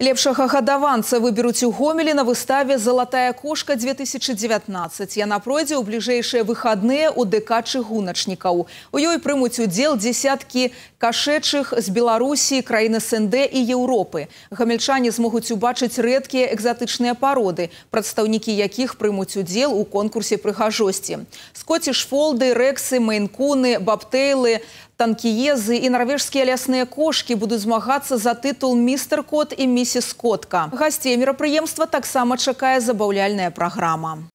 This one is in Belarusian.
Лепшага гадаванца выберуць у Гомелі на выставе «Золотая кошка-2019». Яна пройдзе ў бліжэйшыя выхадныя ў ДК чыгуначнікаў. У ёй прымуць удзел дзесяткі кашэчых з Беларусі, краін СНД і Еўропы. Гамельчане змогуць убачыць рэдкія экзатычныя пароды, прадстаўнікі якіх прымуць удзел у конкурсе прыгажосці. Скоціш-фолды, рэксы, мейн-куны, бабтэйлы, танкіезы і нарвежскія лясныя кошкі будуць змагацца за тытул «Містер Кот» і «Місіс Котка». Гасцей мерапрыемства таксама чакае забаўляльная праграма.